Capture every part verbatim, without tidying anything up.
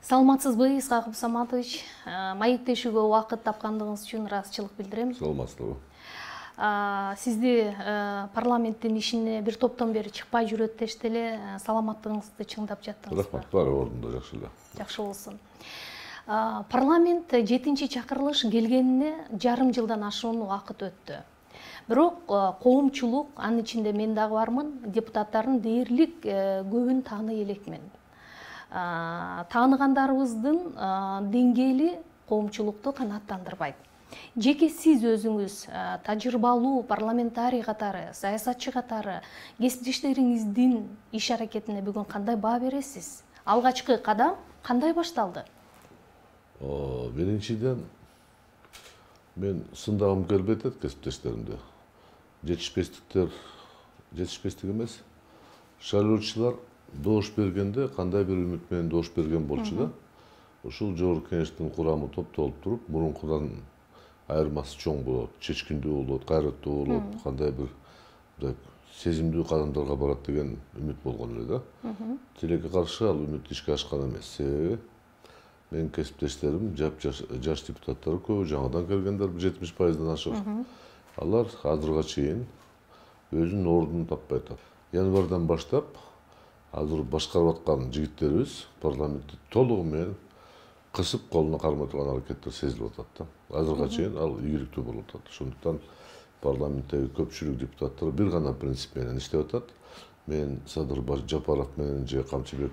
Саламатсызбы, Исхак Абдусаматович? Маектешүүгө убакыт тапкандыгыңыз үчүн ыраазычылык билдирем. Саламатсызбы. Сизди парламенттин ишине бир топтон бери чыкпай жүрөт дешти эле, саламаттыгыңызды чыңдап жаттыңызбы? Рахмат, баары ордунда, жакшы эле. Жакшы болсун. Парламент жетинчи чакырылыш келгенине жарым жылдан ашуун убакыт өттү. Бирок коомчулук, анын ичинде мен дагы бармын, депутаттардын дээрлик көбүн тааный элекмин. Тааныгандарыбыздын деңгээли коомчулукту канааттандырбайт. Жеке сиз өзүңүз тажрыйбалуу парламентарий катары, саясатчы катары кесиптештериңиздин иш аракетине бүгүн кандай баа бересиз? Алгачкы кадам кандай башталды? Биринчиден мен сындагым келбейт эт кесиптештеримди. Жетишпестиктер, жетишпестик эмес, шайлоочулар доош бергенде кандай бир үмүт менен доош берген болчу да. Ушул жогорку кеңештин курамы топтолуп туруп, мурункудан айырмасы чоң болот, чечкиндүү болот, кайраттуу болот, кандай бир сезимдүү кадамдарга барат деген үмүт болгон эле да. Тилекке каршы ал үмүт ишке ашкан эмес. Себеби менин кесиптештерим жаш депутаттар көбү, жаңадан келгендер жетимиш пайыздан ашык. Алар азырга чейин өзүнүн ордун таппай атат. Январдан баштап азыр башкарып аткан жигиттерибиз парламентти толугу менен кысып колуна кармай турган аракеттер сезилип атат да. Азырга чейин ал ийгиликтүү болуп атат. Ошондуктан парламенттеги көпчүлүк депутаттар бир гана принцип менен иштеп атат. Мен Садыр Жапаров менен же Камчыбек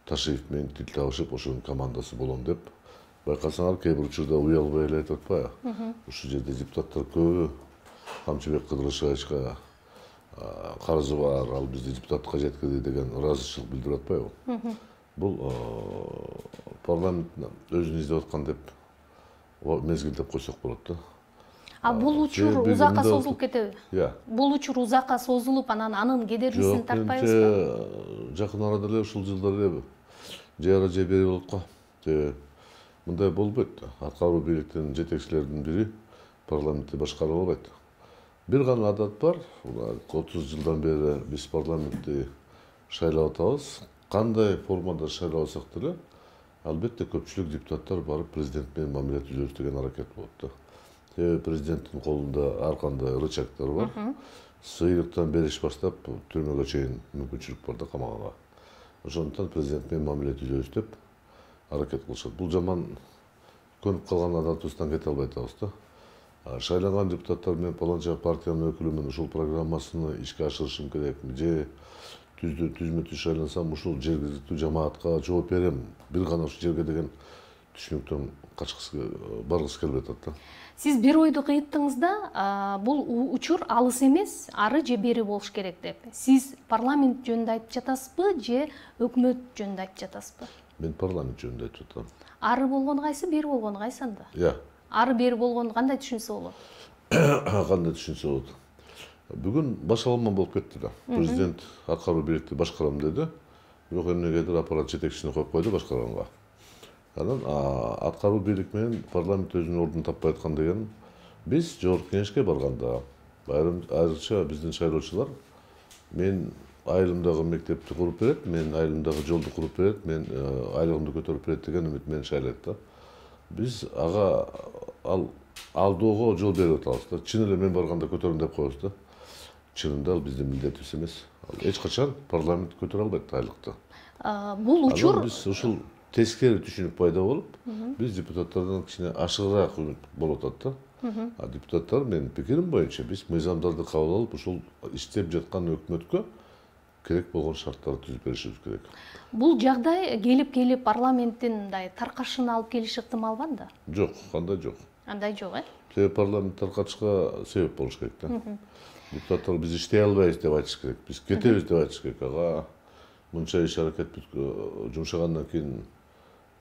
Ташиев менен тил табышып, ошонун командасы болом деп байкасаңар, кээ бир учурда уялбай эле айтып атпайбы? Ушул жерде депутаттар көбү Камчыбек Кыдырышевичке карызы бар, ал бизди депутаттыкка жеткирди деген ыраазычылык билдирип атпайбы? Бул парламент өзүн издеп аткан деп мезгилдеп койсок болот да. А бул учур узакка созулуп кетеби? Иә. Бул учур узакка созулуп, анан анын кедергисин тартпайбызбы? Жакын арада эле ушул жылдар эле жайра же бери болот го. Мындай болбойт. Аткаруу бийликтин жетекчилеринин бири парламентти башкара албайт. Бир гана адат бар. отуз жылдан бери биз парламентти шайлап атабыз. Кандай формада шайлабасак деле, албетте көпчүлүк депутаттар барып президент менен мамиле түзөбүз деген аракет болот да. Себеби президенттин колунда ар кандай рычагдар бар. Сыйрыктан бериш баштап түрмөгө чейин мүмкүнчүлүк бар да, камаганга. Ошондуктан президент менен мамиле түзөбүз деп аракет кылышат. Бул жаман көнүп калган адатыбыздан кете албай атабыз да. Шайланган депутаттар менен паланча партиянын өкүлүмүн, ушул программасыны ишке ашырышым керекми, же түзмө түз шайлансам ушул жергиликтүү жамаатка жооп берем, бир гана ушул жерге деген түшүнүктөн качкысы, баргысы келбей атат да. Сиз бир ойду кыйттыңыз да, бул учур алыс эмес, ары же бери болуш керек деп. Сиз парламент жөнүндө айтып жатасызбы, же өкмөт жөнүндө айтып жатасызбы? Мен парламент жөнүндө айтып жатам. Ары болгону кайсы, бери болгону кайсы анда? Иә. Ары бери болгону кандай түшүнсө болот? Кандай түшүнсө болот? Бүгүн башаламан болуп кетти да. Президент аткаруу бийликти башкарам деди. Бирок эмнегедир аппарат жетекчисине коюп койду башкарганга. Анан аткаруу бийлик менен парламент өзүнүн ордун таппай аткан деген биз жогорку кеңешке барганда айрым айрыкча биздин шайлоочулар мен айылымдагы мектепти куруп берет, мен айылымдагы жолду куруп берет, мен айлыгымды көтөрүп берет деген үмүт менен шайлайт да. Биз ага ал алдоого жол берип атабыз да. Чын эле мен барганда көтөрүм деп коебуз да. Чынында ал биздин милдетибиз эмес. Ал эч качан парламент көтөрө албайт айлыкты. Бул учур биз ушул тескери түшүнүк пайда болуп, биз депутаттардан кичине ашыгыраак үмүт болуп атат да. А депутаттар, менин пикирим боюнча, биз мыйзамдарды кабыл алып, ушул иштеп жаткан өкмөткө керек болгон шарттарды түзүп беришибиз керек. Бул жагдай келип-келип парламенттин мындай таркашына алып келиши ыктымал да? Жок, кандай жок. Андай жок, э? Себеби парламент таркатышка себеп болуш керек да. Депутаттар биз иштей албайбыз деп айтыш керек, биз кетебиз деп айтыш керек. Ага мынча иш аракет жумшагандан кийин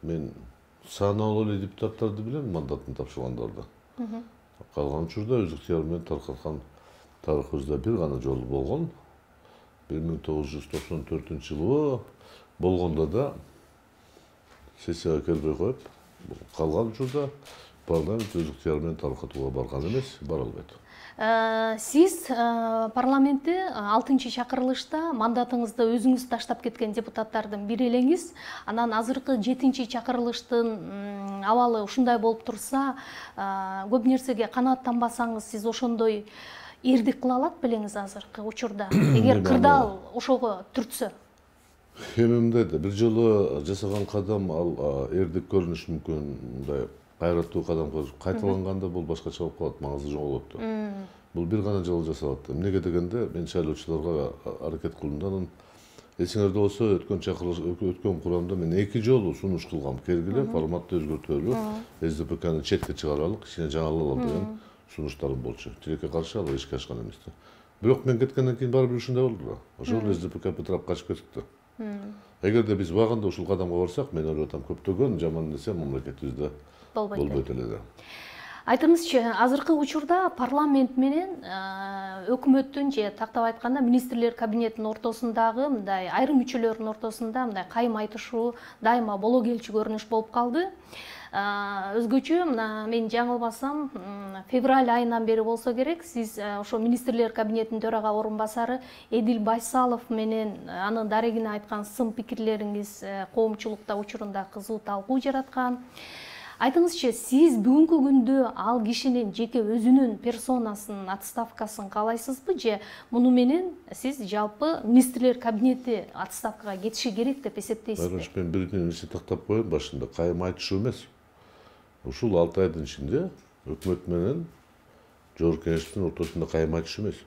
мен сааналуу эле депутаттарды билем, мандатын тапшыргандарды. Калган учурда өз ыктыяры менен таркаткан тарыхыбызда бир гана жолу болгон. бир миң тогуз жүз токсон төртүнчү жылы болгондо да сессияга келбей коюп, калган учурда парламент өз ыктыяры менен таркатууга барган эмес, бара албайт. Сиз парламентте алтынчы чакырылышта мандатыңызды өзүңүз таштап кеткен депутаттардын бири элеңиз. Анан азыркы жетинчи чакырылыштын абалы ушундай болуп турса, көп нерсеге канааттанбасаңыз, сиз ошондой эрдик кыла алат белеңиз азыркы учурда, эгер кырдаал ошого түртсө? Эми мындай да, бир жолу жасаган кадам ал эрдик көрүнүшү мүмкүн, мындай кайраттуу кадам кайталанганда бул башкача болуп калат, маңызы жоголот. Бул бир гана жолу жасалат. Эмнеге дегенде, мен шайлоочуларга аракет кылдым да, анан эсиңерде болсо өткөн чакырылыш, өткөн курамда мен эки жолу сунуш кылгам, келгиле, форматты өзгөртөлү, эс ди пэ каны четке чыгаралык, кичине жаңылалым деген сунуштарым болчу. Тилекке каршы ал ишке ашкан эмес да. Бирок мен кеткенден кийин баары бир ушундай болду да. Ошол эс ди пэ ка бытырап качып кетти да. Эгерде биз убагында ушул кадамга барсак, мен ойлоп атам, көптөгөн жаман нерсе мамлекетибизде болбойт эле да. Айтыңызчы, азыркы учурда парламент менен өкмөттүн же тактап айтканда министрлер кабинетинин ортосундагы мындай айрым мүчөлөрдүн ортосунда мындай кайым айтышуу дайыма боло келчү көрүнүш болуп калды. Өзгөчө, мына мен жаңылбасам, февраль айынан бери болсо керек, сиз ошо министрлер кабинетинин төрага орун басары Эдил Байсалов менен анын дарегине айткан сын пикирлериңиз коомчулукта учурунда кызуу талкуу жараткан. Айтыңызчы, сиз бүгүнкү күндө ал кишинин жеке өзүнүн персонасынын отставкасын каалайсызбы, же муну менен сиз жалпы министрлер кабинети отставкага кетиши керек деп эсептейсизби? Мен бир нерсе тактап коеюн башында, кайым айтышуу эмес. Ушул алты айдын ичинде өкмөт менен жогорку кеңештин ортосунда кайым айтышуу эмес.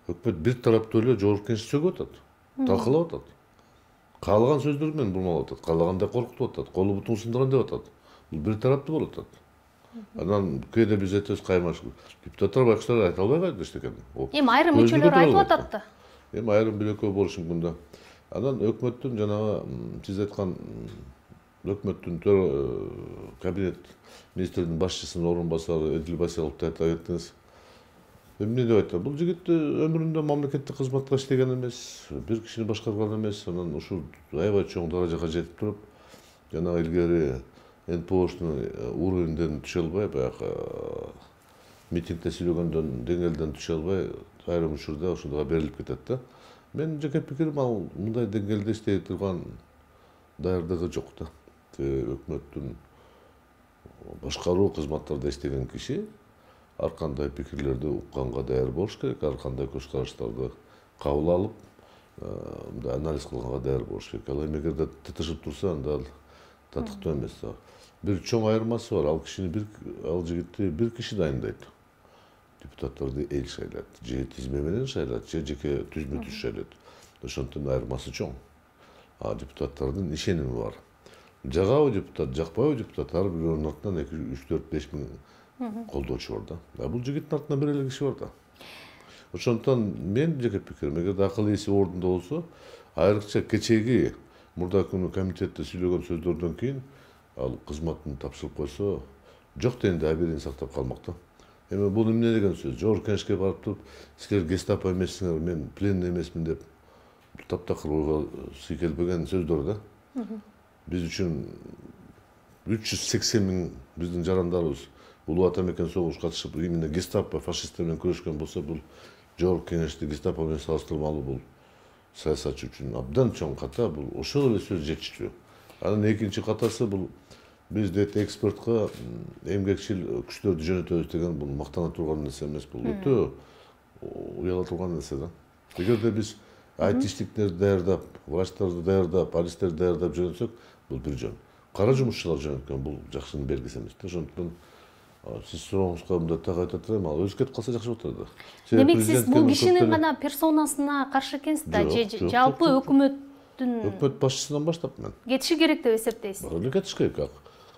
Өкмөт бир тараптуу эле жогорку кеңешти сөгүп атат, талкалап атат. Каалаган сөздөр менен бурмалап атат, каалагандай коркутуп атат, колу бутун сындырам деп атат. Бул бир тараптуу болуп атат. Анан кээде биз айтабыз каймаш. Депутаттар байкуштар айта албай калды эчтекен. Эми айрым мүчөлөр айтып атат да. Эми айрым бир экөө болушу мүмкүн да. Анан өкмөттүн жанагы сиз айткан өкмөттүн кабинет министринин башчысынын орун басары Эдил Байсаловду айта кеттиңиз. Эмне деп айтат? Бул жигит өмүрүндө мамлекеттик кызматта иштеген эмес, бир кишини башкарган эмес. Анан ушул аябай чоң даражага жетип туруп, жанагы илгери эн пэ оштун уровенден түшө албай, баягы митингде сүйлөгөндөн деңгээлден түшө албай, айрым учурда ошондойго берилип кетет да. Менин жеке пикирим, ал мындай деңгээлде иштей турган даярдыгы жок да. Өкмөттүн башкаруу кызматтарда иштеген киши ар кандай пикирлерди укканга даяр болуш керек, ар кандай көз караштарды кабыл алып, мындай анализ кылганга даяр болуш керек. Ал эми эгерде тытышып турса, анда ал татыктуу эмес да. Бир чоң айырмасы бар. Ал кишини бир ал жигитти бир киши дайындайт. Депутаттарды эл шайлайт. Же тизме менен шайлайт, же жеке түзмө түз шайлайт. Ошондон айырмасы чоң. А депутаттардын ишеними бар. Жагабы депутат, жакпайбы депутат, ар бирөөнүн артынан эки, үч, төрт, беш миң колдоочу бар да. А бул жигиттин артынан бир эле киши бар да. Ошондон мен жеке пикирим, эгерде акыл ээси ордунда болсо, айрыкча кечеги мурдагы күнү комитетте сүйлөгөн сөздөрдөн кийин ал кызматын тапшырып койсо, жок дегенде абийирин сактап калмак да. Эми бул эмне деген сөз? Жогорку кеңешке барып туруп, силер гестапо эмессиңер, мен пленный эмесмин деп таптакыр ойго сый келбеген сөздөр да. Биз үчүн үч жүз сексен миң биздин жарандарыбыз улуу ата мекен согуш катышып, именно гестапо фашисттер менен күрөшкөн болсо, бул жогорку кеңешти гестапо менен салыштырмалуу, бул саясатчы үчүн абдан чоң ката, бул ошол эле сөз жетиштүү. Анан экинчи катасы, бул биз дейт экспортко эмгекчил күчтөрдү жөнөтөбүз деген, бул мактана турган нерсе эмес, бул өтө уяла турган нерсе да. Эгерде биз айтиштиктерди даярдап, врачтарды даярдап, полистерди даярдап жөнөтсөк, бул бир жөн. Кара жумушчулар жөнөткөн, бул жакшынын белгиси эмес да. Ошондуктан сиз сурооңузга мындай так айтып атырайм, ал өзү кетип калса жакшы болот эле да. Демек сиз бул кишинин гана персонасына каршы экенсиз да, же жалпы өкмөттүн өкмөт башчысынан баштап мен кетиши керек деп эсептейсиз? Баары кетиш керек.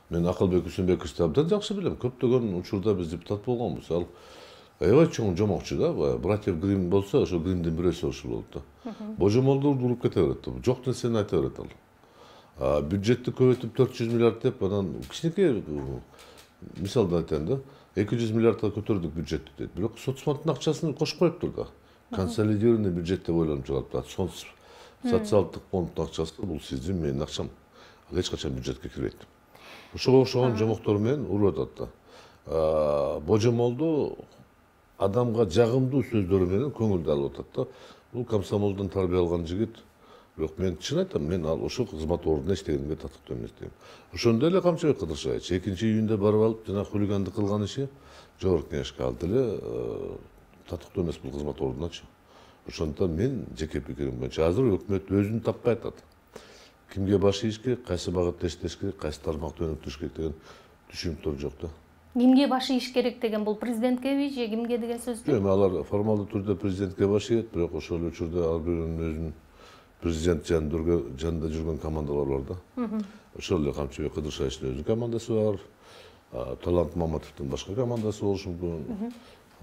Мен Акылбек Үсөнбековичти абдан жакшы билем. Көптөгөн учурда биз депутат болгонбуз. Ал аябай чоң жомокчу да. Братьев Грим болсо, ошо Гримдин бирөөсү ошол болот да. Божомолду уруп кете берет. Жок нерсени айта берет ал. А бюджетти көбөйтүп төрт жүз миллиард деп, анан кичинекей мисалды айтайын да, эки жүз миллиардга көтөрдүк бюджетти дейт. Бирок соцфонддун акчасын кошуп коюптур да. Консолидированный бюджет деп ойлонуп чыгарып атат. Социалдык фонддун акчасы бул сиздин, менин акчам. Ал эч качан бюджетке кирбейт. Ошого окшогон жомоктор менен уруп атат да. Божомолду адамга жагымдуу сөздөрү менен көңүлдү алып атат да. Бул комсомолдон тарбия алган жигит. Бирок мен чын айтам, мен ал ошол кызмат ордуна иштегенге татыктуу эмес дейм. Ошондой эле Камчыбек Кыдыршаевич экинчи июнда барып алып жана хулигандык кылган иши жогорку кеңешке ал деле татыктуу эмес бул кызмат ордуначы. Ошондуктан мен жеке пикирим боюнча азыр өкмөт өзүн таппай атат. Кимге баш ийиш керек, кайсы багытта иштеш керек, кайсы тармакты өнүктүрүш керек деген түшүнүктөр жок да. Кимге баш ийиш керек деген бул президенткеби же кимге деген сөз? Жок, алар формалдуу түрдө президентке баш ийет, бирок ошол эле учурда ар бирөөнүн өзүнүн президент жанында жүргөн командалар бар да. Ошол эле Камчыбек Кыдыршаевичтин өзүнүн командасы бар, Талант Маматовдун башка командасы болушу мүмкүн,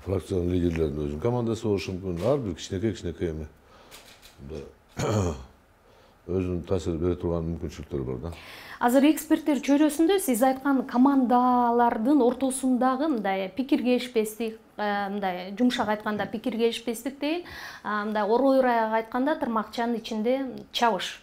фракциянын лидерлеринин өзүнүн командасы болушу мүмкүн, ар бир кичинекей кичинекей эме өзүнүн таасир бере турган мүмкүнчүлүктөрү бар да. Азыр эксперттер чөйрөсүндө сиз айткан командалардын ортосундагы мындай пикир келишпестик, мындай жумшак айтканда пикир келишпестик дейин, мындай оройраак айтканда тырмакчанын ичинде чабыш.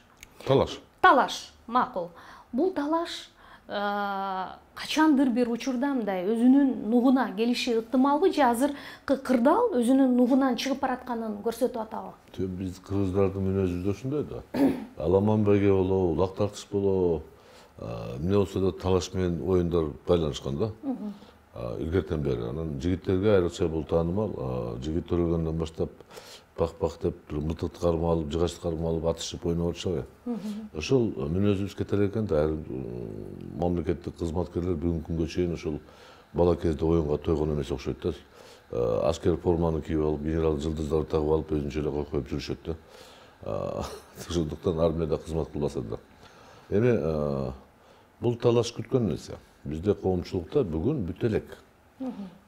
Талаш. Талаш, макул. Бул талаш качандыр бир учурда мындай өзүнүн нугуна келиши ыктымалбы же азыркы кырдаал өзүнүн нугунан чыгып баратканын көрсөтүп атабы? Биз кыргыздардын мүнөзү да ошондой да. Аламан байге болобу, улак тартыш болобу, эмне болсо да талаш менен оюндар байланышкан да. Илгертен бери анан жигиттерге айрыкча бул таанымал. Жигит төрөлгөндөн баштап бак-бак деп бир мылтыкты кармап алып, жыгачты кармап алып атышып ойноп атышабы. Ошол мүнөзүбүз кете элек экен да. Айрым мамлекеттик кызматкерлер бүгүнкү күнгө чейин ошол бала кезде оюнга тойгон эмес окшойт да. Аскер форманы кийип алып, генерал жылдыздарды тагып алып өзүнчө эле коюп жүрүшөт да. Ошондуктан армияда кызмат кылбаса да. Эми бул талаш күткөн нерсе. Бизде коомчулукта бүгүн бүт элек.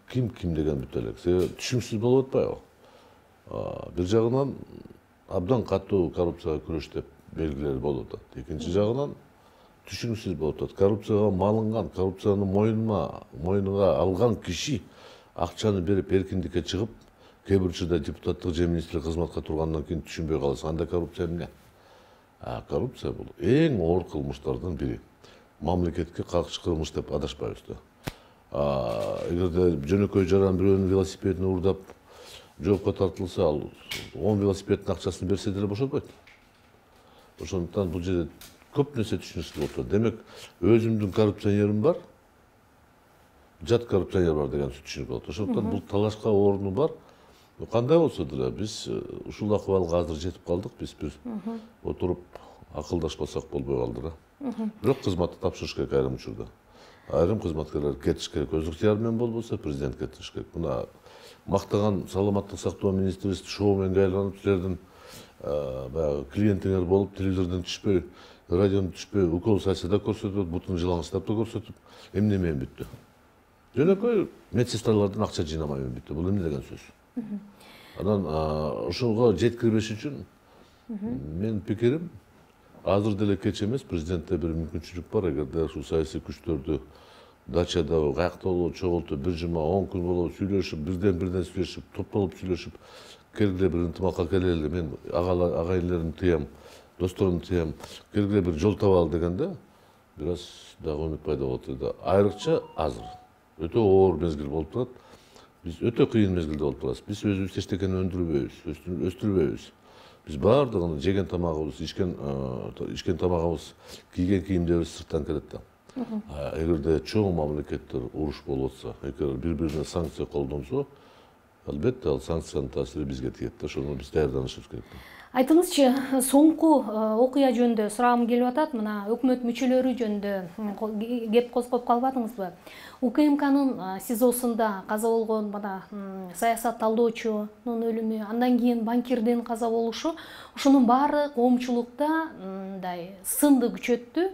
Ким ким деген бүт элек. Себеби түшүнүксүз болуп атпайбы? Бир жагынан абдан катуу коррупцияга күрөш деп белгилер болуп атат. Экинчи жагынан түшүнүксүз болуп атат. Коррупцияга малынган, коррупцияны мойнуна, мойнуга алган киши акчаны берип эркиндикке чыгып, кээ бир учурда депутаттык же министрлик кызматка тургандан кийин түшүнбөй каласың. Анда коррупция эмне? А коррупция бул эң оор кылмыштардын бири. Мамлекетке каршы кылмыш деп адашпайбыз да. Эгерде жөнөкөй жаран бирөөнүн велосипедин уурдап жоопко тартылса, ал он велосипеддин акчасын берсе деле бошотпойт. Ошондуктан бул жерде көп нерсе түшүнүксүз болуп атат. Демек, өзүмдүн коррупционерим бар, жат коррупционер бар деген түшүнүк болот. Ошондуктан бул талашка орну бар. Кандай болсо деле биз ушул акыбалга азыр жетип калдык. Биз бир отуруп акылдашпасак болбой калды да. Бирок кызматты тапшырыш керек айрым учурда. Айрым кызматкерлер кетиш керек. Өз ыктыяры менен болбосо президент кетиш керек. Мына мактаган саламаттык сактоо министрибиз шоуменге айланып, силердин баягы клиентиңер болуп, телевизордон түшпөй, радиодон түшпөй, укол сайса да көрсөтүп, бутун жылаңычтап да көрсөтүп, эмне менен бүттү? Жөнөкөй медсестралардан акча жыйнамай менен бүттү. Бул эмне деген сөз? Анан ошого жеткирбеш үчүн мен пикирим азыр деле кеч эмес, президентте бир мүмкүнчүлүк бар. Эгерде ушул саясий күчтөрдү дачада каякта болобу чогултуп бир жума он күн болобу сүйлөшүп, бирден бирден сүйлөшүп, топтолуп сүйлөшүп, келгиле бир ынтымакка келели, мен агайларымды тыям, досторумду тыям, келгиле бир жол табалы дегенде бир аз дагы үмүт пайда болот эле. Айрыкча азыр өтө оор мезгил болуп турат. Биз өтө кыйын мезгилде болуп турабыз. Биз өзүбүз эчтекени өндүрбөйбүз, өстүрбөйбүз. Биз баардыгын жеген тамагыбыз, ичкен ичкен тамагыбыз, кийген кийимдерибиз сырттан келет да. Эгерде чоң мамлекеттер уруш болуп атса, эгер бири-бирине санкция колдонсо, албетте ал санкциянын таасири бизге тиет да. Ошону биз даярданышыбыз керек. Айтыңызчы, соңку окуя жөнүндө сурагым келип атат. Мына өкмөт мүчөлөрү жөнүндө кеп козгоп калбадыңызбы? УКМКнын СИЗОсунда каза болгон мына саясат талдоочунун өлүмү, андан кийин банкирдин каза болушу, ушунун баары коомчулукта мындай сынды күчөттү.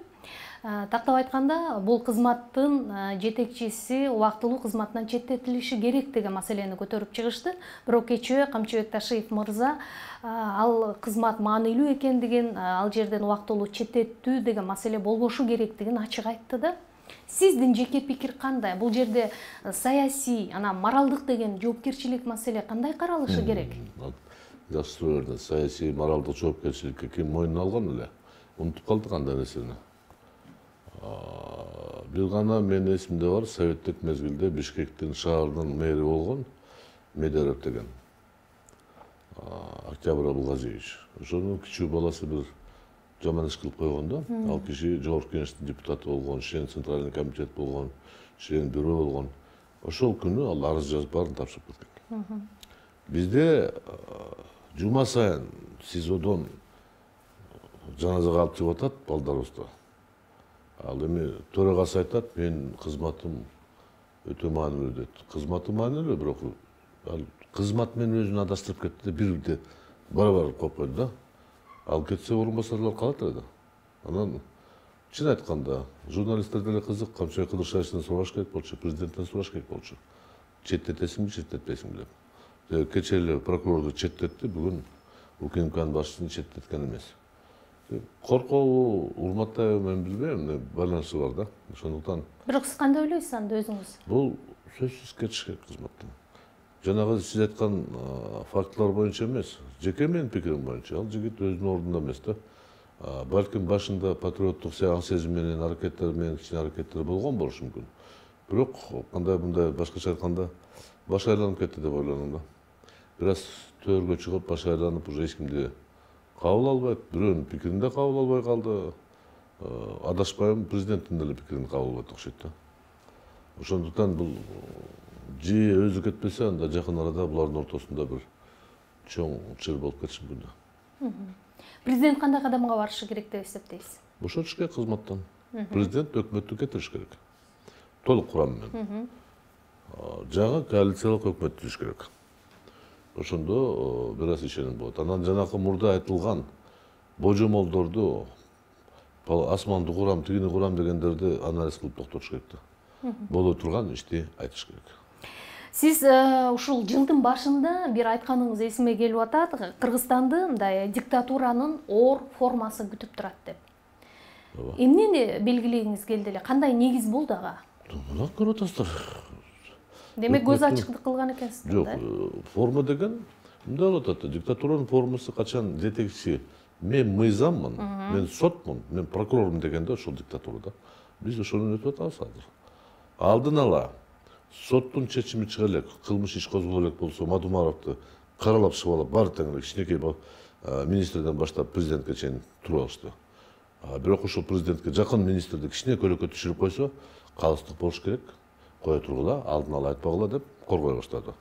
Тактап айтканда, бул кызматтын жетекчиси убактылуу кызматынан четтетилиши керек деген маселени көтөрүп чыгышты. Бирок кечээ Камчыбек Ташиев мырза ал кызмат маанилүү экендигин, ал жерден убактылуу четтетүү деген маселе болбошу керектигин ачык айтты да. Сиздин жеке пикир кандай? Бул жерде саясий, анан моралдык деген жоопкерчилик маселе кандай каралышы керек? Жакшы суроо бердиңиз. Саясий, моралдык жоопкерчиликке ким мойнуна алган эле? Унутуп калдык андай нерсени. Бир гана менин эсимде бар, советтик мезгилде Бишкектин шаарынын мэри болгон Медарев деген Октябрь Абылгазиевич. Ошонун кичүү баласы бир жаман иш кылып койгон да. Ал киши жогорку кеңештин депутаты болгон, член центральный комитет болгон, член бюро болгон. Ошол күнү ал арыз жазып баарын тапшырып кеткен. Бизде жума сайын СИЗОдон жаназага алып чыгып атат балдарыбызды. Ал эми төрагасы айтат, менин кызматым өтө маанилүү дейт. Кызматы маанилүү, бирок ал кызмат менен өзүн адаштырып кетти, бирде бара-бара коюп койду да. Ал кетсе орун басарлар калат эле да. Анан чын айтканда журналисттер деле кызык, Камчыбек Кыдыршаевичтен сураш керек болчу, президенттен сураш керек болчу. Четтетесиңби, четтетпейсиңби деп. Кечээ эле прокурорду четтетти, бүгүн УКМКнын башчысын четтеткен эмес. Коркобу, урматтайбы мен билбейм, байланышы бар да. Ошондуктан. Бирок сиз кандай ойлойсуз анда өзүңүз? Бул сөзсүз кетиш керек кызматтан. Жанагы сиз айткан фактылар боюнча эмес, жеке менин пикирим боюнча, ал жигит өзүнүн ордунда эмес да. Балким башында патриоттук сезим менен, аракеттер менен кичине аракеттер болгон болушу мүмкүн. Бирок кандай мындай башкача айтканда баш айланып кетти деп ойлоном да. Бир аз төргө чыгып, баш айланып, уже эч кимди кабыл албайт, бирөөнүн пикирин да кабыл албай калды. Адашпайм, президенттин деле пикирин кабыл албайт окшойт да. Ошондуктан бул же өзү кетпесе, анда жакын арада булардын ортосунда бир чоң чыр болуп кетиши мүмкүн да. Президент кандай кадамга барышы керек деп эсептейсиз? Бошотуш керек кызматтан. Президент өкмөттү кетириш керек. Толук курам менен. Жаңы коалициялык өкмөт түзүш керек. Ошондо бир аз ишеним болот. Анан жанакы мурда айтылган божомолдорду, асманды курам, тигини курам дегендерди анализ кылып токтотуш керек да. Боло турган ишти айтыш керек. Сиз ушул жылдын башында бир айтканыңыз эсиме келип атат, Кыргызстанды мындай диктатуранын оор формасы күтүп турат деп. Эмнени белгилегиңиз келди эле? Кандай негиз болду ага? Мына көрүп атасыздар. Демек көз ачыктык кылган экенсиз да? Жок, форма деген мындай болот атат. Диктатуранын формасы качан жетекчи мен мыйзаммын, мен сотмун, мен прокурормун дегенде ошол диктатурада. Биз ошону өтүп атабыз азыр. Алдын ала соттун чечими чыга элек, кылмыш иш козголо элек болсо, Мадумаровду каралап чыгып алып, баары тең эле кичинекей министрден баштап президентке чейин туруп алышты. Бирок ошол президентке жакын министрди кичине көлөккө түшүрүп койсо, калыстык болуш керек, кое тургула, алдын ала айтпагыла деп коргой баштады.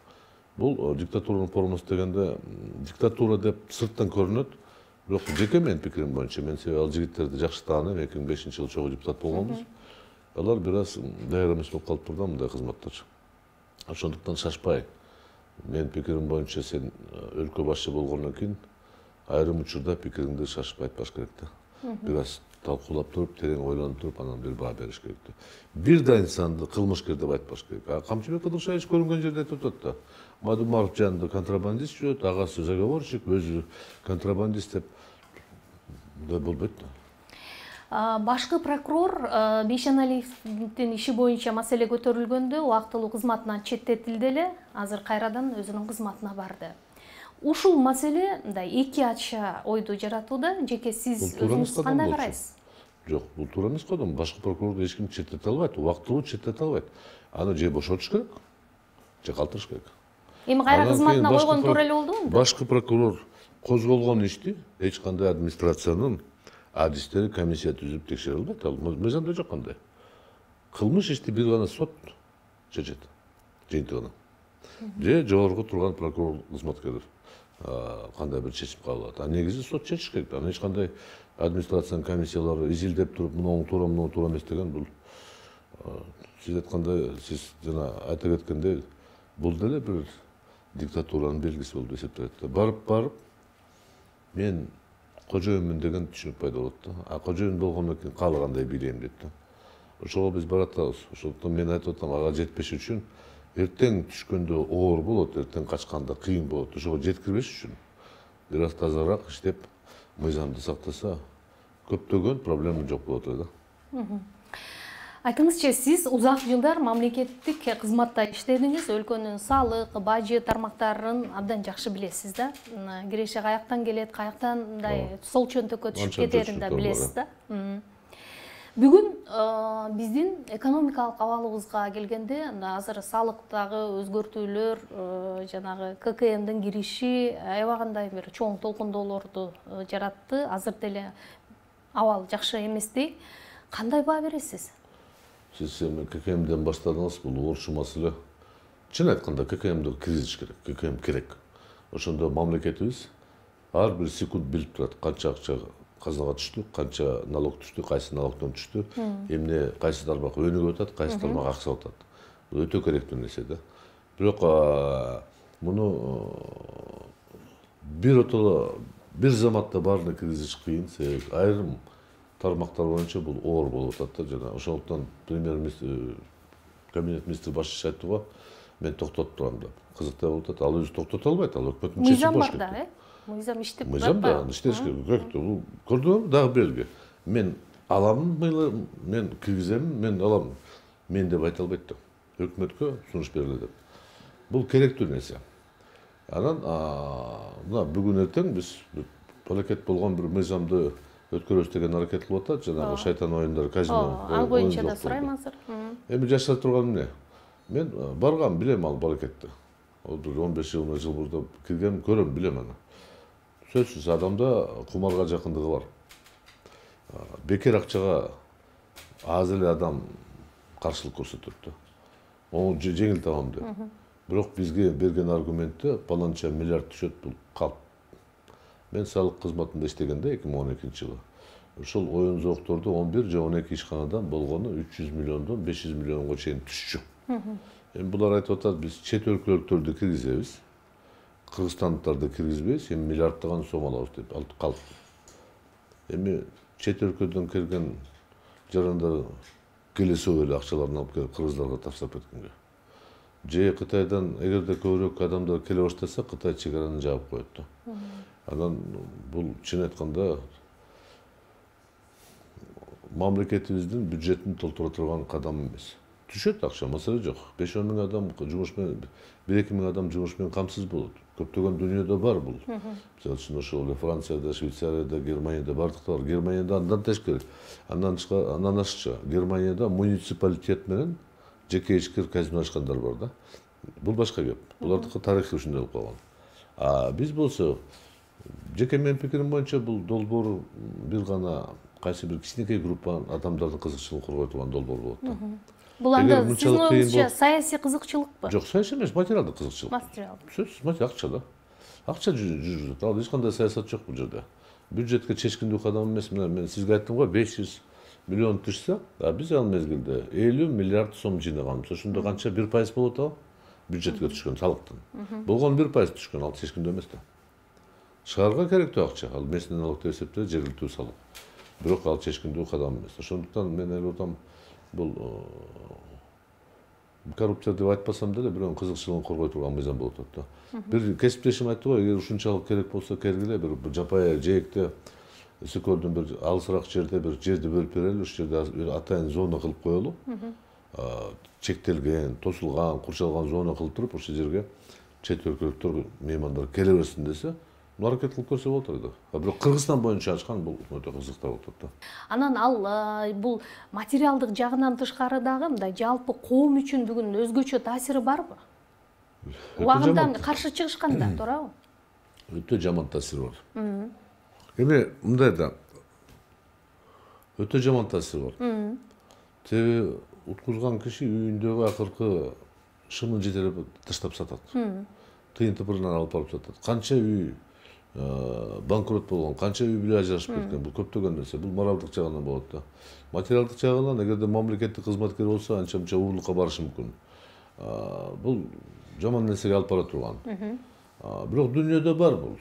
Бул диктатуранын формасы дегенде диктатура деп сырттан көрүнөт. Бирок жеке менин пикирим боюнча, мен себеби ал жигиттерди жакшы тааныйм, эки миң бешинчи жылы чогуу депутат болгонбуз. Алар бир аз даяр эмес болуп калыптыр да мындай кызматтар. Ошондуктан шашпай, менин пикирим боюнча сен өлкө башчы болгондон кийин айрым учурда пикириңди шашпай айтпаш керек да. Бир аз талкуулап туруп, терең ойлонуп туруп, анан бир баа бериш керек да. Бир да инсанды кылмышкер деп айтпаш керек. Камчыбек Кыдыршаевич көрүнгөн жерде айтып атат да. Мадумаров жанында контрабандист жүрөт, агасы заговорщик, өзү контрабандист деп. Мындай болбойт да. Башкы прокурор Бейшеналиевдин иши боюнча маселе көтөрүлгөндө убактылуу кызматынан четтетилди эле, азыр кайрадан өзүнүн кызматына барды. Ушул маселе мындай эки ача ойду жаратууда. Жеке сиз өзүңүз кандай карайсыз? Жок, бул туура эмес кодом. Башкы прокурорду эч ким четтете албайт, убактылуу четтете албайт. Аны же бошотуш керек, же калтырыш керек. Эми кайра кызматына койгон туура эле болдубу? Башкы прокурор козголгон ишти эч кандай администрациянын адистери комиссия түзүп текшере албайт. Ал мыйзамда жок кандай. Кылмыш ишти бир гана сот чечет, жыйынтыгына. Же жогорку турган прокурор кызматкерлер кандай бир чечим кабыл алат. А негизи сот чечиш керек. Аны эч кандай администрациянын комиссиялары изилдеп туруп, муну туура, муну туура эмес деген бул сиз айткандай, сиз жана айта кеткендей, бул деле бир диктатуранын белгиси болуп эсептелет. Барып барып мен кожоюнмун деген түшүнүк пайда болот да. А кожоюн болгондон кийин каалагандай бийлейм дейт да. Ошого биз баратабыз. Ошондуктан мен айтып атам, ага жетпеш үчүн эртең түшкөндө оор болот, эртең качканда кыйын болот. Ошого жеткирбеш үчүн бир аз тазараак иштеп, мыйзамды сактаса, көптөгөн проблема жок болот эле да. Айтыңызчы, сиз узак жылдар мамлекеттик кызматта иштедиңиз, өлкөнүн салык, бажы тармактарын абдан жакшы билесиз да. Киреше каяктан келет, каяктан мындай сол чөнтөккө түшүп кетерин да билесиз да. Бүгүн биздин экономикалык абалыбызга келгенде, азыр салыктагы өзгөртүүлөр, жанагы ка ка эмдин кириши аябагандай бир чоң толкундоолорду жаратты. Азыр деле абал жакшы эместей. Кандай баа бересиз? Сиз эми ка ка эмден баштадыңыз, бул орчу маселе. Чын айтканда ка ка эмди киргизиш керек, ка ка эм керек. Ошондо мамлекетибиз ар бир секунд билип турат, канча акча казынага түштү, канча налог түштү, кайсы налогдон түштү, эмне кайсы тармак өнүгүп атат, кайсы тармак аксап атат. Бул өтө керектүү нерсе да. Бирок муну бир отоло бир заматта баарына киргизиш кыйын, себеби айрым тармактар боюнча бул оор болуп атат да. Жана ошондуктан премьер-министр, кабинет министри башчысы айтты го, мен токтотуп турам деп. Кызыктай болуп атат. Ал өзү токтото албайт, ал өкмөттүн чечими болуш керек. Мыйзам бар да, э? Мыйзам иштеп турат. Мыйзам да, иштеш керек. Бул көрдүңүзбү, дагы белги. Мен алам, мен киргизем, мен алам. Мен деп айта албайт да. Өкмөткө сунуш берилет деп. Бул керектүү нерсе. Анан мына бүгүн эртең биз аракет болгон бир мыйзамды өткөрөбүз деген аракет кылып атат, жанагы шайтан оюндары, казино. Ал боюнча да сурайм азыр. Эми жашап турган эмне? Мен баргам, билем ал аракетти. он беш жыл жыл мурда киргем, көрөм, билем аны. Сөзсүз адамда кумарга жакындыгы бар. Бекер акчага аз эле адам каршылык көрсөтөт да. Оң жеңил табам деп. Бирок бизге берген аргументте паланча миллиард түшөт, бул калп. Мен салык кызматында иштегенде эки миң он экинчи жылы ошол оюн зоокторду он бир же он эки ишканадан болгону үч жүз миллиондон беш жүз миллионго чейин түшчү. Эми булар айтып атат, биз чет өлкөлүктөрдү киргизебиз, кыргызстандыктарды киргизбейбиз, эми миллиарддаган сом алабыз деп алып калып. Эми чет өлкөдөн келген жарандар келесип эле акчаларын алып келип кыргыздарга таштап кеткенге. Же Кытайдан эгерде көбүрөөк адамдар келе баштаса, Кытай чек араны жаап коет да. Анан бул чын айтканда мамлекетибиздин бюджетин толтура турган кадам эмес. Түшөт акча, маселе жок. беш он миң адам жумуш менен, бир эки миң адам жумуш менен камсыз болот. Көптөгөн дүйнөдө бар бул. Мисалы үчүн ошол эле Францияда, Швейцарияда, Германияда бардыкта бар. Германияда андан тешкери, андан андан ашыкча, Германияда муниципалитет менен жеке ишкер казино ачкандар бар да. Бул башка кеп. Булардыкы тарыхы ушундай болуп калган. А биз болсо, жеке менин пикирим боюнча бул долбоор бир гана кайсы бир кичинекей группа адамдардын кызыкчылыгын коргой турган долбоор болот да. Бул анда сиздин оюңузча саясий кызыкчылыкпы? Жок, саясий эмес, материалдык кызыкчылык. Материал. Сөзсүз, материал акча да. Акча жүрүп, ал эч кандай саясат жок бул жерде. Бюджетке чечкиндүү кадам эмес. Мен сизге айттым го, беш жүз миллион түшсө, а биз ал мезгилде элүү миллиард сом жыйнаганбыз. Ошондо канча бир пайыз болот ал? Бюджетке түшкөн салыктын. Болгон бир пайыз түшкөн, ал чечкиндүү эмес да. Шаарга керектүү акча, ал местный налог деп эсептелет, жергиликтүү салык. Бирок ал чечкиндүү кадам эмес. Ошондуктан мен ойлоп атам, бул коррупция деп айтпасам деле, бирөөнүн кызыкчылыгын коргой турган мыйзам болуп атат да. Бир кесиптешим айтты го, эгер ушунчалык керек болсо кергиле, бир жапайы жээкте Өсөкөлдүн бир алысыраак жерде бир жерди бөлүп берели, ушул жерде атайын зона кылып коелу. Чектелген, тосулган, курчалган зона кылып туруп, ошол жерге чет өлкөлүктөр, меймандар келе берсин десе, аракет кылып көрсө болот эле. А бирок Кыргызстан боюнча ачкан бул өтө кызыктуу болуп атат да. Анан ал бул материалдык жагынан тышкары дагы мындай жалпы коом үчүн бүгүн өзгөчө таасири барбы? Убагында каршы чыгышканда, туурабы? Өтө жаман таасири бар. Эми мындай да, өтө жаман таасири бар. Теби уткузган киши үйүндөгү акыркы шымын жетелеп таштап сатат. Тыйын тыпырынан алып барып сатат. Канча үй банкрот болгон, канча үй бүлө ажырашып кеткен, бул көптөгөн нерсе. Бул моралдык жагынан болот да. Материалдык жагынан эгерде мамлекеттик кызматкер болсо, анча-мынча уурулукка барышы мүмкүн. Бул жаман нерсеге алып бара турган. Бирок дүйнөдө бар бул.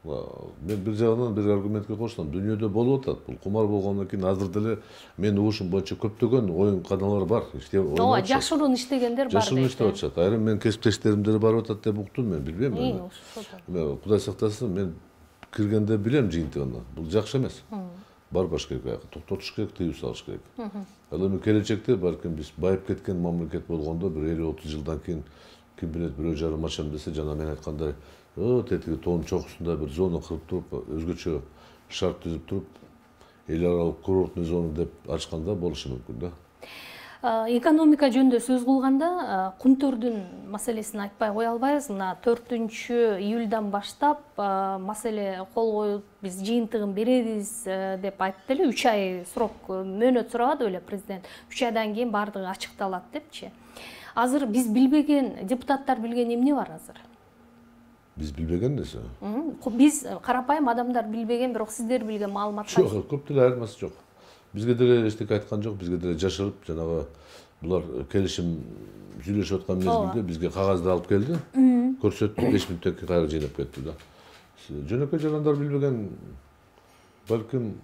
Мен бир жагынан бир аргументке кошсом, дүйнөдө болуп атат. Бул кумар болгондон кийин азыр деле менин угушум боюнча көптөгөн оюн каналар бар. Ооба, жашыруун иштегендер бар. Жашыруун иштеп атышат. Айрым менин кесиптештерим деле барып атат деп уктум, мен билбейм. Эми Кудай сактасын, мен киргенде билем жыйынтыгын. Бул жакшы эмес. Барбаш керек, токтотуш керек, тыюу салыш керек. Ал эми келечекте балким биз байып кеткен мамлекет болгондо бир элүү отуз жылдан кийин ким билет, бирөө жарым ачам десе, жана мен айткандай, тетиги тоонун чокусунда бир зона кырып туруп, өзгөчө шарт түзүп туруп, эл аралык курорттук зона деп ачканда болушу мүмкүн да. Экономика жөнүндө сөз кылганда кумтөрдүн маселесин айтпай кое албайбыз. Мына төртүнчү июлдан баштап маселе кол коюп биз жыйынтыгын беребиз деп айтты эле. үч ай срок мөөнөт сурабады беле президент. үч айдан кийин баардыгы ачыкталат депчи. Азыр биз билбеген, депутаттар билген эмне бар азыр? Биз билбеген нерсе. Биз карапайым адамдар билбеген, бирок сиздер билген маалымат жок, көп деле айырмасы жок. Бизге деле эчтеке айткан жок, бизге деле жашырып, жанагы булар келишим сүйлөшүп аткан мезгилде бизге кагазды алып келди, көрсөттү, беш мүнөттөн кийин кайра жыйнап кетти да. Жөнөкөй жарандар билбеген, балким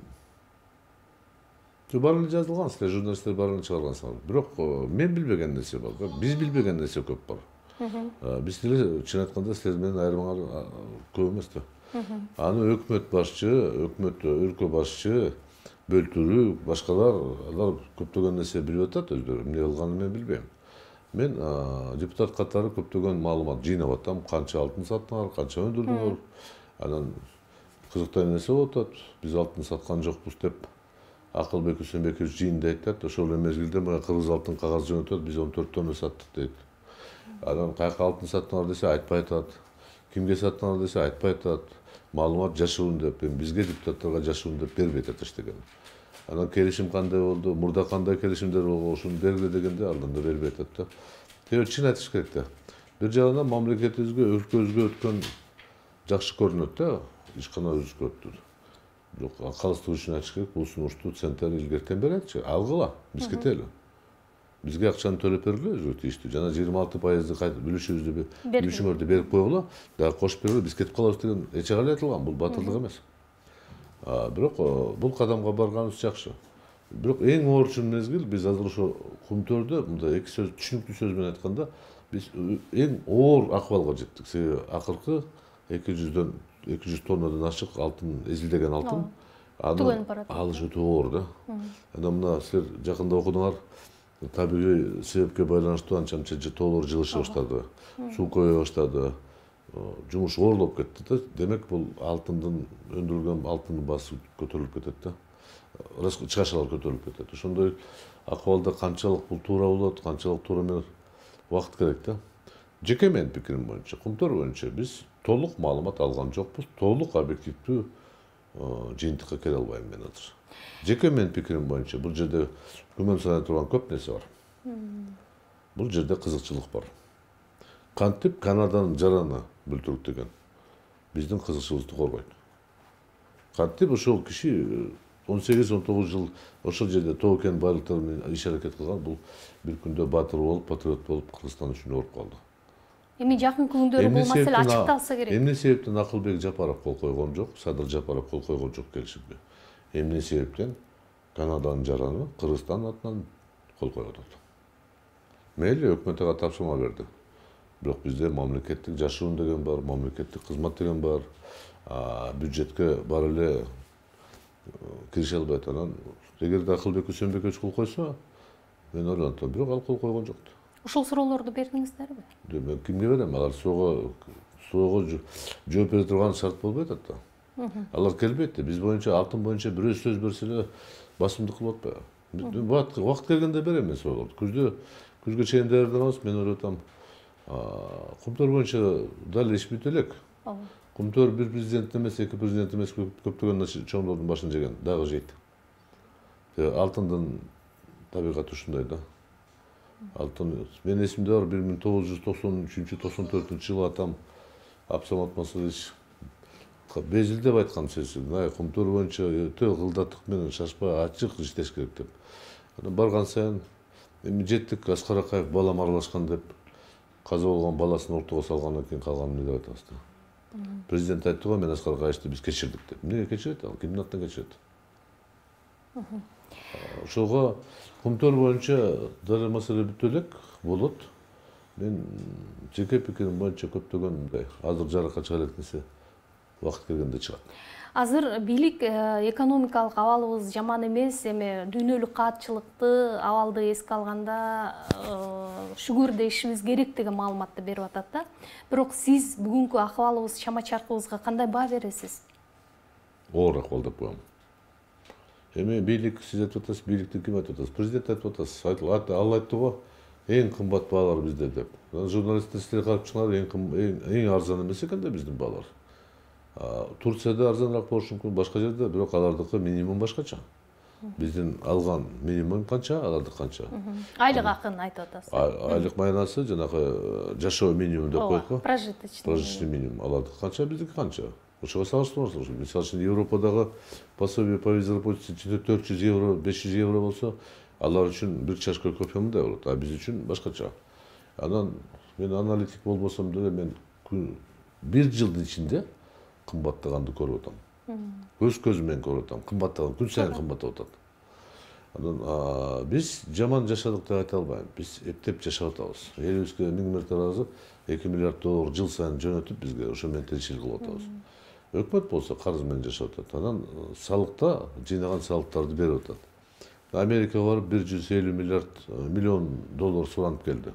баарын жазылган, силер журналисттер баарын чыгаргансыңар. Бирок мен билбеген нерсе бар, биз билбеген нерсе көп бар. Биз деле чын айтканда силер менен айырмаңар көп эмес да. Аны өкмөт башчы, өкмөт өлкө башчы, бөлтүрүү, башкалар, алар көптөгөн нерсе билип атат өздөрү. Эмне кылганын мен билбейм. Мен депутат катары көптөгөн маалымат жыйнап атам, канча алтын саттыңар, канча өндүрдүңөр. Анан кызыктуу нерсе болуп атат. Биз алтын саткан жокпуз деп Акылбек Үсөнбеков жыйында айтат. Ошол эле мезгилде мына кыргыз алтын кагаз жөнөтөт, биз он төрт тонна саттык дейт. Анан каяка алтын саттыңар десе айтпай атат. Кимге саттыңар десе айтпай атат. Маалымат жашыруун деп, бизге депутаттарга жашыруун деп бербей атат эчтекен. Анан келишим кандай болду, мурда кандай келишимдер болгон, ошону бергиле дегенде андан да бербей атат да. Себеби чын айтыш керек да. Бир жагынан мамлекетибизге, өлкөбүзгө өткөн жакшы көрүнөт да, ишканабызга өттү. Бирок акалсыздык үчүн айтыш керек, бул сунушту центр илгертен беретчи, алгыла, биз кетели. Бизге акчаны төлөп бергиле өзгө тийиштүү. Жана жыйырма алты пайызды бүлүшүбүздү бүлүшүңөрдү берип койгула, дагы кошуп бергиле, биз кетип калабыз деген эче кале айтылган, бул батылдык эмес. Бирок бул кадамга барганыбыз жакшы. Бирок эң оорчун мезгил биз азыр ошо Кумтөрдө мындай эки сөз түшүнүктүү сөз менен айтканда биз эң оор акыбалга жеттик. Себеби акыркы эки жүздөн эки жүз тоннадан ашык алтын, эзилдеген алтын. Аны алыш өтө оор да. Анан мына силер жакында окудуңар, табигый себепке байланыштуу анча мынча тоолор жылыша баштады, суу көбөйө баштады, жумуш оорлоп кетти да. Демек бул алтындын өндүрүлгөн алтындын баасы көтөрүлүп кетет да. Чыгашалар көтөрүлүп кетет. Ошондой акыбалда канчалык бул туура болот, канчалык туура эмес, убакыт керек да. Жеке менин пикирим боюнча, Кумтөр боюнча биз толук маалымат алган жокпуз, толук объективдүү жыйынтыкка келе албайм мен азыр. Жеке менин пикирим боюнча бул жерде күмөн санай турган көп нерсе бар. Бул жерде кызыкчылык бар. Кантип Канаданын жараны бөлтүрүктөгөн биздин кызыкчылыкты коргойт. Кантип ошол киши он сегиз он тогуз жыл ошол жерде тоо кен байлыктары менен иш аракет кылган, бул бир күндө баатыр болуп, патриот болуп Кыргызстан үчүн ооруп калды. Эми жакын күндөрү бул маселе ачыкталса керек. Эмне себептен Акылбек Жапаров кол койгон жок, Садыр Жапаров кол койгон жок келишимге? Эмне себептен Канаданын жараны Кыргызстан атынан кол коюп атат? Мейли өкмөткө тапшырма берди. Бирок бизде мамлекеттик жашыруун деген бар, мамлекеттик кызмат деген бар. Бюджетке бар эле кирише албайт. Анан эгерде Акылбек Үсөнбекович кол койсо, мен ойлонтом, бирок ал кол койгон жок. Ушул суроолорду бердиңиздерби? Мен кимге берем? Алар суга суга жооп бере турган шарт болбой атат да. Алар келбейт да. Биз боюнча алтын боюнча бирөө сөз берсе эле басымдык кылып атпайбы? Убакыт келгенде берем мен суроолорду. Күздө күзгө чейин даярданабыз, мен ойлоп атам. Кумтөр боюнча дал иш бүт элек. Кумтөр бир президент эмес, эки президент эмес, көптөгөн чоңдордун башын жеген, дагы жейт. Алтындын табигаты ушундай да. Алтын, мен эсимде бар, бир миң тогуз жүз токсон үчүнчү токсон төртүнчү жылы атам Абсамат Масалович безилдеп айткан сөзү, Кумтөр боюнча өтө кылдаттык менен шашпай ачык иштеш керек деп. Анан барган сайын эми жеттик, Аскар Акаев балам аралашкан деп каза болгон баласын ортого салгандан кийин калганын эмне деп атабыз да. Президент айтты го, мен Аскар Акаевди биз кечирдик деп. Эмнеге кечирет ал? Кимдин атынан кечирет? Ошого Кумтөр боюнча дары маселе бүт элек болот. Мен жеке пикирим боюнча көптөгөн мындай азыр жарыкка чыга элек нерсе убакыт келгенде чыгат. Азыр бийлик экономикалык абалыбыз жаман эмес, эми дүйнөлүк каатчылыкты абалды эске алганда шүгүрдөшүбүз керек деген маалыматты берип атат да. Бирок сиз бүгүнкү акыбалыбыз, чама чаркыбызга кандай баа бересиз? Оор акыбал деп коем. Эми бийлик сиз айтып атасыз, бийликти ким айтып атасыз? Президент айтып атасыз. Ал айтты го, эң кымбат баалар бизде деп. Журналисттер силер карап чыгыңар, эң эң арзан эмес экен да биздин баалар. Турцияда арзаныраак болушу мүмкүн, башка жерде, бирок алардыкы минимум башкача. Биздин алган минимум канча, алардыкы канча? Айлык акын айтып атасыз. Айлык майнасы жанагы жашоо минимум деп коет го. Прожиточный. Прожиточный минимум. Алардыкы канча, биздики канча? Ошого салыштырыңыз. Мисалы үчүн Европадагы пособие по безработице төрт жүз евро, беш жүз евро болсо, алар үчүн бир чашка кофе мындай болот, а биз үчүн башкача. Анан мен аналитик болбосом деле мен бир жылдын ичинде кымбаттаганды көрүп атам. Көз көзүм менен көрүп атам. Кымбаттаган күн сайын кымбаттап атат. Анан биз жаман жашадык деп айта албайм. Биз эптеп жашап атабыз. Элибизге миң мәрте ыраазы эки миллиард доллар жыл сайын жөнөтүп бизге ошо менен тиричилик кылып атабыз. Өкмөт болсо карыз менен жашап атат. Анан салыкта жыйнаган салыктарды берип атат. Америкага барып бир жүз элүү миллиард миллион доллар суранып келди.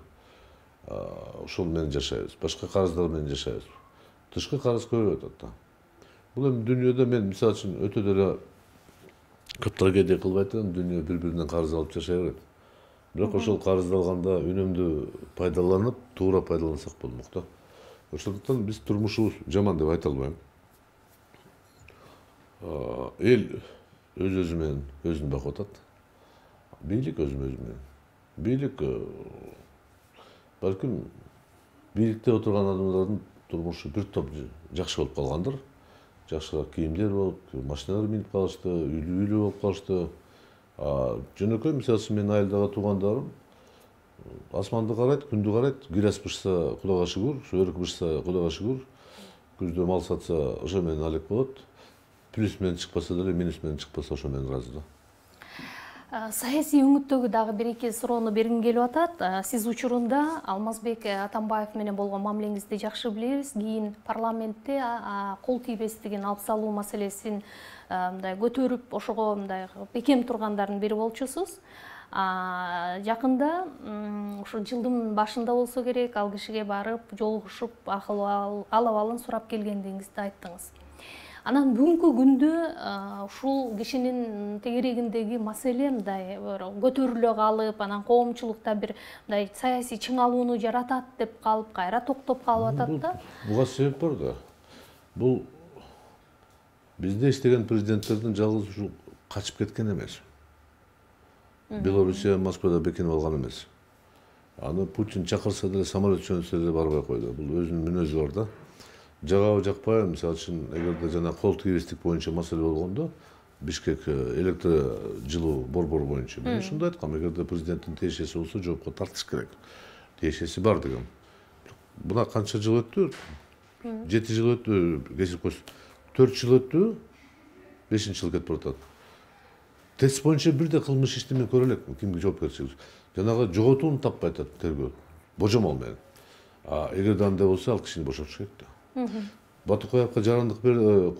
Ошол менен жашайбыз. Башка карыздар менен жашайбыз. Тышкы карыз көбөйүп атат да. Бул эми дүйнөдө мен мисалы үчүн өтө деле көп трагедия кылбайт элем, дүйнө бири-биринен карыз алып жашай берет. Бирок ошол карызды алганда үнөмдүү пайдаланып, туура пайдалансак болмок да. Ошондуктан биз турмушубуз жаман деп айта албайм. Эл өз өзү менен өзүн багып атат. Бийлик өзү менен. Бийлик балким бийликте отурган адамдардын турмушу бир топ жакшы болуп калгандыр. Жакшыраак кийимдер болуп, машиналар минип калышты, үйлүү болуп калышты. Жөнөкөй мисалы үчүн менин айылдагы туугандарым асманды карайт, күндү карайт, гүлас бышса Кудайга шүгүр, өрүк бышса Кудайга шүгүр, күздө мал сатса ошо менен алек болот. Плюс менен чыкпаса деле, минус менен чыкпаса ошо менен ыраазы да. Саясий өңүттөгү дагы бир эки суроону бергим келип атат. Сиз учурунда Алмазбек Атамбаев менен болгон мамилеңизди жакшы билебиз. Кийин парламентте кол тийбестигин алып салуу маселесин мындай көтөрүп, ошого мындай бекем тургандардын бири болчусуз. Жакында ушу жылдын башында болсо керек, ал кишиге барып, жолугушуп, ал-абалын сурап келгендигиңизди айттыңыз. Анан бүгүнкү күндө ушул кишинин тегерегиндеги маселе мындай көтөрүлө калып, анан коомчулукта бир мындай саясий чыңалууну жаратат деп калып, кайра токтоп калып атат да. Буга себеп бар да. Бул бизде иштеген президенттердин жалгыз ушул качып кеткен эмес. Белоруссия Москвада бекинип алган эмес. Аны Путин чакырса деле, самолет жөнөтсө деле барбай койду. Бул өзүнүн мүнөзү бар да. Жагабы жакпайбы, мисалы үчүн эгерде жана кол тийбестик боюнча маселе болгондо, Бишкек электр жылуу борбору боюнча мен ушундай айткам, эгерде президенттин тиешеси болсо жоопко тартыш керек. Тиешеси бар дегем. Буна канча жыл өттү? жети жыл өттү, кесип койсун. төрт жыл өттү, бешинчи жыл кетип баратат. Тест боюнча бирде кылмыш ишти мен көрө элекмин, кимге жоопкерчилик. Жанагы жоготууну таппай атат тергөө, божомол менен. А эгерде андай болсо, ал кишини бошотуш керек да. Батукаевка жарандык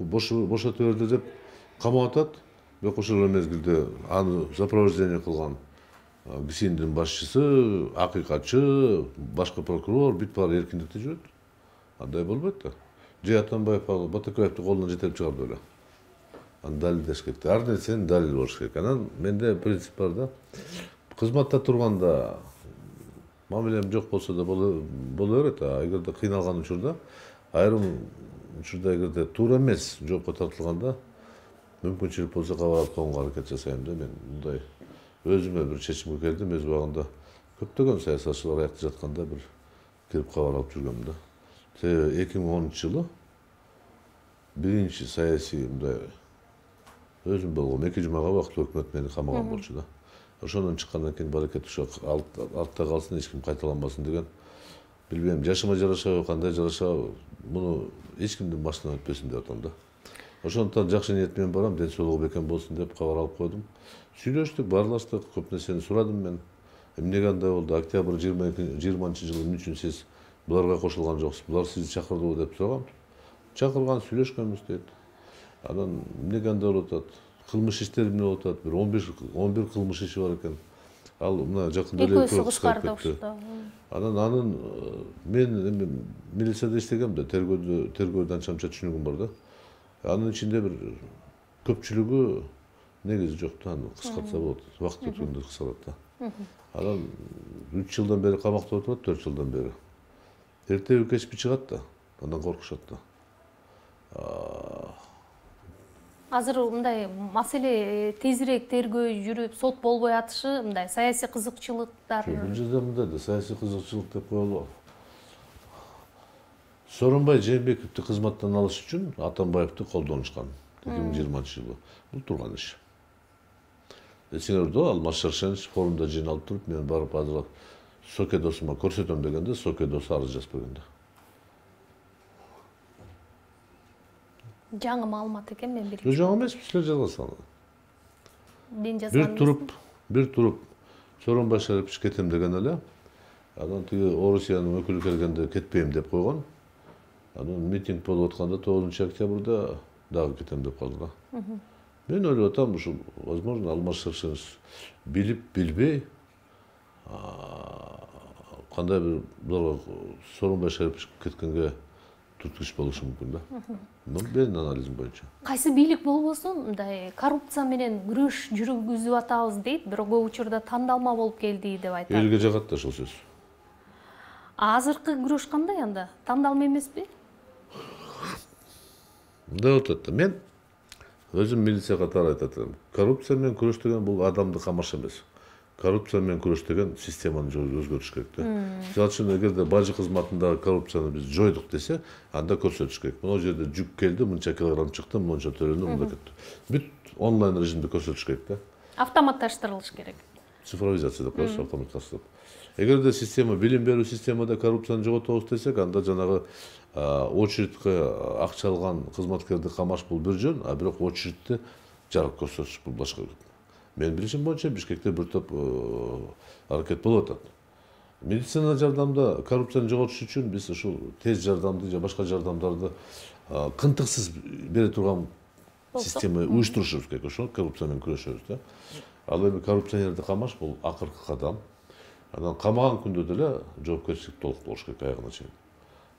бошотуп берди деп камап атат. Бирок ошол мезгилде аны сопровождение кылган ГСИНдин башчысы, акыйкатчы, башкы прокурор бүт баары эркиндикте жүрөт. Андай болбойт да. Же Атамбаев Батукаевди колунан жетелеп чыгарды эле. Аны далилдеш керек. Ар нерсенин далили болуш керек. Анан менде принцип бар да. Кызматта турганда мамилем жок болсо да боло берет, а эгерде кыйналган учурда, айрым учурда эгерде туура эмес жоопко тартылганда, мүмкүнчүлүк болсо кабар алып коюнга аракет жасайм да. Мен мындай өзүмө бир чечимге келдим, өз убагында көптөгөн саясатчылар аякта жатканда бир кирип кабар алып жүргөм да. эки миң онунчу жылы биринчи саясий мындай өзүм болгом эки жумага убактылуу өкмөт мени камаган болчу да. Ошондон чыккандан кийин баракет ошо артта калсын, эч ким кайталанбасын деген. Билбейм, жашыма жарашабы, кандай жарашабы, муну эч кимдин башынан өтпөсүн деп атам да. Ошондуктан жакшы ниет менен барам, ден соолугу бекем болсун деп кабар алып койдум. Сүйлөштүк, баарлаштык, көп нерсени сурадым мен. Эмнеге андай болду? Октябрь жыйырманчы жылы эмне үчүн сиз буларга кошулган жоксуз? Булар сизди чакырдыбы деп сурагам. Чакырган, сүйлөшкөнбүз дейт. Анан эмнеге андай болуп атат? Кылмыш иштери эмне болуп атат? Бир он бир кылмыш иши бар экен. Ал мына жакында эле экөө кыскарып кетти. Анан анын мен милицияда иштегем да, тергөөдө тергөөдө анча-мынча түшүнүгүм бар да. Анын ичинде бир көпчүлүгү негизи жок да, аны кыскартса болот. Убакыт өткөндө кыскарат да. Анан үч жылдан бери камакта отурат, төрт жылдан бери. Эртеби кечпи чыгат да, андан коркушат да. Азыр мындай маселе тезирээк тергөө жүрүп, сот болбой атышы, мындай саясий кызыкчылыктар. Бул жерде мындай да, саясий кызыкчылык деп коелу. Сооронбай Жээнбековду кызматтан алыш үчүн Атамбаевди колдонушкан эки миң жыйырманчы жылы. Бул турган иш. Эсиңерде Алмаз Шаршенович форумда жыйналып туруп, мен барып азыр Соке досума көрсөтөм дегенде, Соке досу арыз жазып бергенде. Жаңы маалымат экен, мен билем. Жок, жаңы эмес, силер жазгансыңар. Мен жазган. Бир туруп, бир туруп Сооронбай Шарипович кетем деген эле. Анан тиги Орусиянын өкүлү келгенде кетпейм деп койгон. Анан митинг болуп атканда тогузунчу октябрда дагы кетем деп калды да. Мен ойлоп атам, ушул возможно Алмаз Шаршенович билип билбей кандай бир буларга Сооронбай Шарипович кеткенге түрткүч болушу мүмкүн да. Бул менин анализим боюнча. Кайсы бийлик болбосун, мындай коррупция менен күрөш жүргүзүп атабыз дейт, бирок көп учурда тандалма болуп келди деп айтат. Элге жагат да ошол сөз. Азыркы күрөш кандай анда? Тандалма эмеспи? Мындай болуп атат да. Мен өзүм милиция катары айтат элем. Коррупция менен күрөш деген бул адамды камаш эмес. Коррупция менен күрөш деген системаны өзгөртүш керек да. Мисалы үчүн эгерде бажы кызматындагы коррупцияны биз жойдук десе, анда көрсөтүш керек. Могу жерде жүк келди, мынча килограмм чыкты, мынча төлөндү, мындай кетти. Бүт онлайн режимде көрсөтүш керек да. Автоматташтырылыш керек. Цифровизация деп коебуз, автоматташтырып. Эгерде система, билим берүү системада коррупцияны жоготобуз десек, анда жанагы очередке акча алган кызматкерди камаш бул бир жөн, а бирок очередти жарык көрсөтүш бул башка. Мен билишим боюнча Бишкекте бир топ аракет болуп атат. Медицина жардамда коррупцияны жоготуш үчүн биз ушул тез жардамды же башка жардамдарды кынтыксыз бере турган система уюштурушубуз керек, ошол коррупция менен күрөшөбүз да. Ал эми коррупционерди камаш бул акыркы кадам. Анан камаган күндө деле жоопкерчилик толук болуш керек аягына чейин.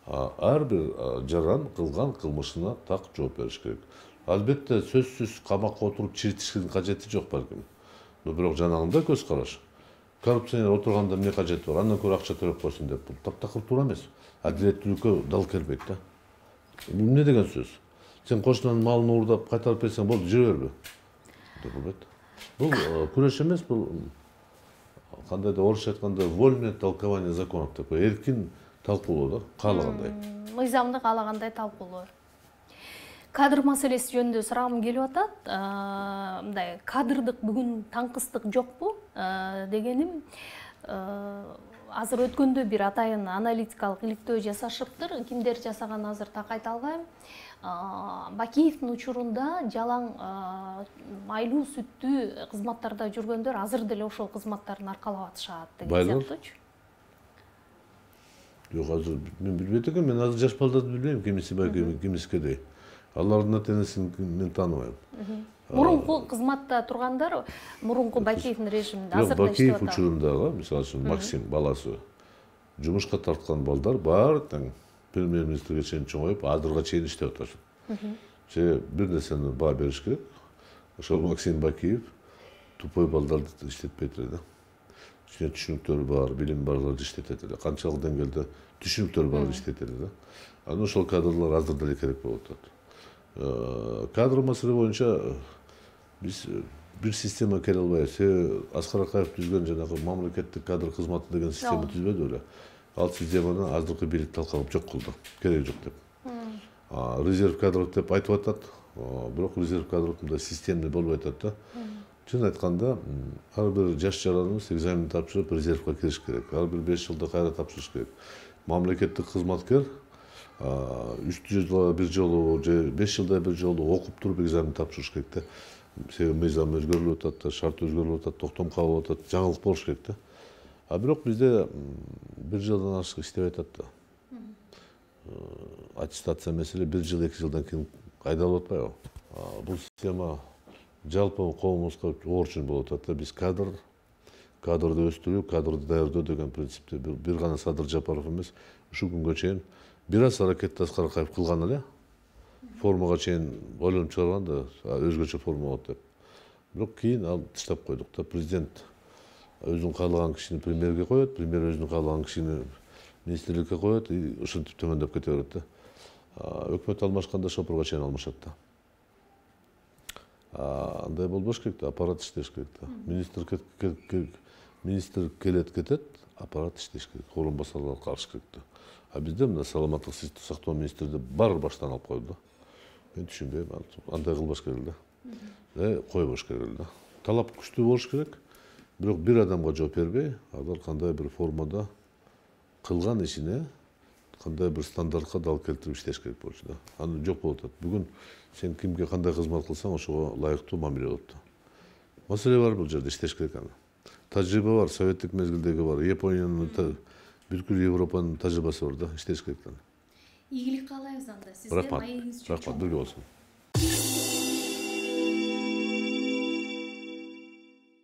Ар бир жаран кылган кылмышына так жооп бериш керек. Албетте сөзсүз камакка отуруп чиритиштин кажети жок балким. Но бирок жанагында көз караш. Коррупционер отурганда эмне кажети бар? Андан көрө акча төлөп койсун деп. Бул таптакыр туура эмес. Адилеттүүлүккө дал келбейт да. Эмне деген сөз? Сен кошунанын малын уурдап кайтарып берсең болду, жүрө бербе. Деп болбойт. Бул күрөш эмес, бул кандайда орусча айтканда вольное толкование законов деп, эркин талкуулоо да, каалагандай. Мыйзамды каалагандай талкуулоо. Кадр маселеси жөнүндө сурагым келип атат. Мындай кадрдык бүгүн таңкыстык жокпу дегеним, азыр өткөндө бир атайын аналитикалык иликтөө жасашыптыр. Кимдер жасаган азыр так айта албайм. Бакиевдин учурунда жалаң майлуу сүттүү кызматтарда жүргөндөр азыр деле ошол кызматтарын аркалап атышат деген сыяктуучу. Жок, азыр мен билбейт экенмин, мен азыр жаш балдарды билбейм, кимиси Бакиев, кимиси Кедей. Алардын ата-энесин мен тааныбайм. Мурунку кызматта тургандар, мурунку Бакиевдин режиминде азыр да иштеп атат. Бакиев учурундагы, мисалы үчүн Максим баласы жумушка тарткан балдар баары тең премьер-министрге чейин чоңоюп, азырга чейин иштеп атышат. Же бир нерсени баа бериш керек. Ошол Максим Бакиев тупой балдарды иштетпейт эле да. Ичине түшүнүктөрү бар, билим барларды иштетет эле. Канчалык деңгээлде түшүнүктөрү бар иштетет эле да. Анан ошол кадрлар азыр деле керек болуп атат. Кадр маселе боюнча биз бир система келе албайбыз. Аскар Акаев түзгөн жанагы мамлекеттик кадр кызматы деген система түзбөдү беле. Ал системаны азыркы бийлик талкалап жок кылды. Кереги жок деп. Резерв кадров деп айтып атат, бирок резерв кадров мындай системный болбой атат да. Чын айтканда, ар бир жаш жараныбыз экзамен тапшырып резервге кириш керек. Ар бир беш жылда кайра тапшырыш керек. Мамлекеттик кызматкер үч жылда бир жолу же беш жылда бир жолу окуп туруп экзамен тапшырыш керек да. Себеби мыйзам өзгөрүлүп атат да, шарт өзгөрүлүп атат, токтом кабылып атат, жаңылык болуш керек да. А бирок бизде бир жылдан ашык иштебей атат да. Аттестация маселе бир жыл, эки жылдан кийин кайдалып атпайбы? Бул система жалпы коомубузга оор чын болуп атат да. Биз кадр, кадрды өстүрүү, кадрды даярдоо деген принципте бир гана Садыр Жапаров эмес, ушул күнгө чейин бир аз аракетти Аскар Акаев кылган эле. Формага чейин ойлонуп чыгарган да, өзгөчө форма болот деп. бирок кийин ал таштап койдук да. Президент өзүн каалаган кишини премьерге коет, премьер өзүн каалаган кишини министрликке коет, и ушинтип төмөндөп кете берет да. Өкмөт алмашканда шопурга чейин алмашат да. Андай болбош керек да, аппарат иштеш керек да. Министр министр келет кетет, аппарат иштеш керек, орун басарлар карыш керек да. А бизде мына саламаттык сактоо министрди бар баштан алып койду да. Мен түшүнбөйм, андай кылбаш керек да. Э, койбош керек да. Талап күчтүү болуш керек, бирок бир адамга жооп бербей, алар кандай бир формада кылган ишине кандай бир стандартка дал келтирип иштеш керек болчу да. Аны жок болуп атат. Бүгүн сен кимге кандай кызмат кылсаң, ошого ылайыктуу мамиле болот да. Маселе бар бул жерде, иштеш керек аны. Тажрыйба бар, советтик мезгилдеги бар, Япониянын, бүткүл Европанын тажрыйбасы бар да, иштеш керек да. Ийгилик каалайбыз анда. Сизге Рахмат, маегиңиз рахмат, бирге болсун.